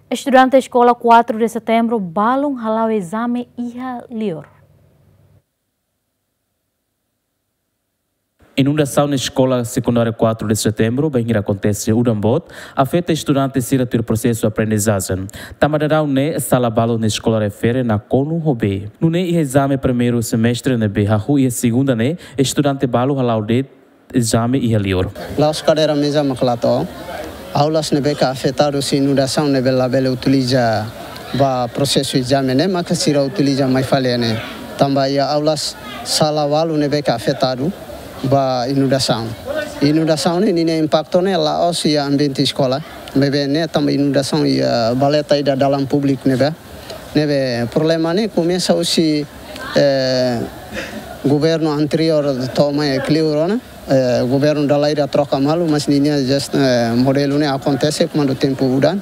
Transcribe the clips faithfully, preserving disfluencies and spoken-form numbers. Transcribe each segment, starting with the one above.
Estudante Eskola Quatro de Setembro balun hala'o ezame iha liur. Inundasaun iha Eskola Sekundária Quatro de Setembro, bainhira akontese udan boot, afeta estudante sira tuir prosesu aprendizajen. Tanba daudaun ne'e, sala balu iha eskola refere nakonu ho bee. Nune'e iha ezame primeiru semestre ne'ebé hahú iha segunda ne'e, estudante balu hala'o de'it ezame iha liur. La'ós kadeira meza mak la to'o. Aulas ne'ebé ke afetadu husi inundasaun ne'ebé labele utiliza ba prosesu ezame ne'e maka sira utiliza mai fali ne'e. Tanba iha aulas sala balu ne'ebé ke afetadu ba inundasaun. Inundasaun ne'e ninia impaktu ne'e la'ós iha ambiente eskola. Maibé ne'e tanba inundasaun iha valeta ida dalan públiku ne'ebá. Ne'ebé problema ne'e komesa husi, eh, governu anteriór to'o mai iha liur ona, eh, governu dala ida troka malu, mas ninia jest, eh, modelu ne'e akontese kuandu tempu udan.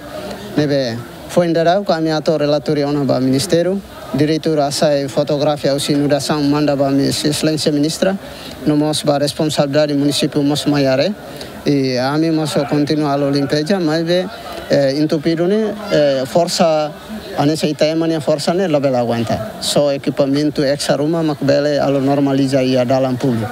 Ne'ebé foin daudauk ami hato'o relatóriu ona ba ministériu, diretór hasai fotografia husi inundasaun manda ba ami, Exelénsia Ministra, no mós ba responsabilidade munisípiu mós mai haree. I ami mós kontinua halo limpeza, maibé, eh, entupidu ne'e, eh, forsa, hanesan ita ema nia forsa ne'e labele aguenta. Só ekipamentu extra ruma mak bele halo normaliza iha dalan públiku.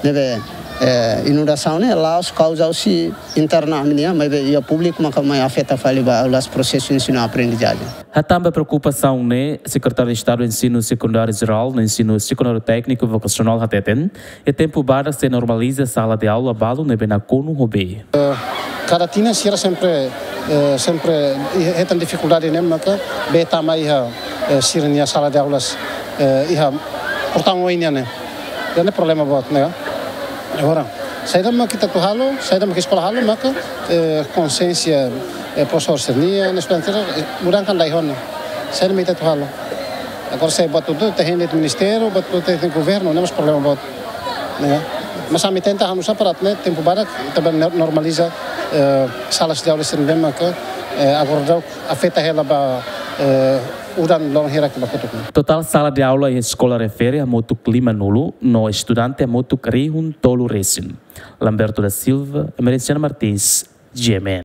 Ne'ebé, eh, inundasaun ne'e la'ós kauza husi interna ami-nian, maibé iha públiku maka mai afeta fali ba aulas prosesu ensinu aprendizajen. Hatán ba preokupasaun ne'e, Sekretáriu Estadu Ensinu Sekundáriu Jerál no Ensinu Sekundáriu Tékniku Vokasionál hateten, iha tempu badak sei normaliza sala de aula balu ne'ebé nakonu ho bee. Kada tinan sira sempre, eh, sempre iha, hetan difikuldade ne'e maka bee tama iha, eh, sira-nia sala de aulas, eh, iha portaun oin nian ne'e. Ida-ne'e problema boot ne'e. Agora, saida mak ita atu halo, saida mak eskola halo, maka, eh, konsiénsia, eh, profesór sira-nian, estudante sira, eh, mudankan dai hone. Saida mak ita atu halo. Agora, se buat hotu-hotu ita hein de'it ministériu, buat hotu-hotu ita hein governu, ne'e mós problema boot. Ne'e. Mas ami tenta halo nu'usá para ne'e tempu badak ita bele nor-, normaliza, eh, salas de aula sira ne'ebé maka, eh, agora daudaun afeta hela ba, eh, udan loron hirak ba kotuk. Totál sala de aula iha eskola refere hamutuk limanulu, no estudante hamutuk rihun tolu resin. Lamberto da Silva, Emerenciano Martins, G M N.